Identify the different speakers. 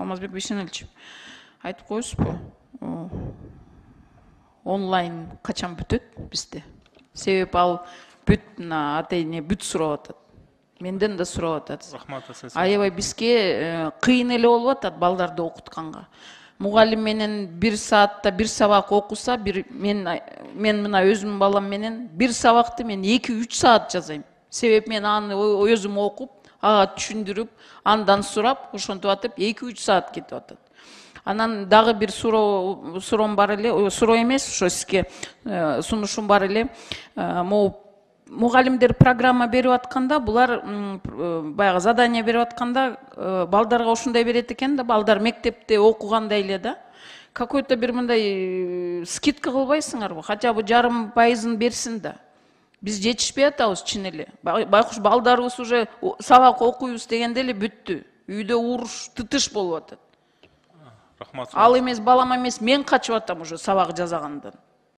Speaker 1: Алмазбек Бейшеналович, айтып коесузбу, онлайн качан бүтөт бизде? Себеп ал бүт ата эне бүт сурап атат. Менден да сурап атат.
Speaker 2: Рахмат асасы.
Speaker 1: Аябай бизге кыйын эле болуп атат балдарды окутканга. Мугалим менен 1 саатта 1 сабак окуса, мен мына өзүмдүн балам менен 1 сабакты мен 2-3 саат жазайм. Себеп мен аны өзүм окуп, ага түшүндүрүп, андан сурап, ошентип атып 2-3 саат кетип атат. Анан дагы бир суроом бар эле, суроо эмес, ошо сизге сунушум бар эле. Мугалимдер программа берип атканда, булар баягы задание берип атканда, балдарга ушундай берет экен да, балдар мектепте окугандай эле да. Какой-то бир мындай скидка кылбайсыңарбы? Хотя бы 0,5% берсин да. Биз жетишпей атабыз чын эле. Байкуш балдарыбыз уже сабак окуйбуз дегенде эле бүттү. Үйдө уруш, тытыш болуп атат.
Speaker 2: Рахмат.
Speaker 1: Ал эмес, балам эмес, мен качып атам уже сабак жазагандан.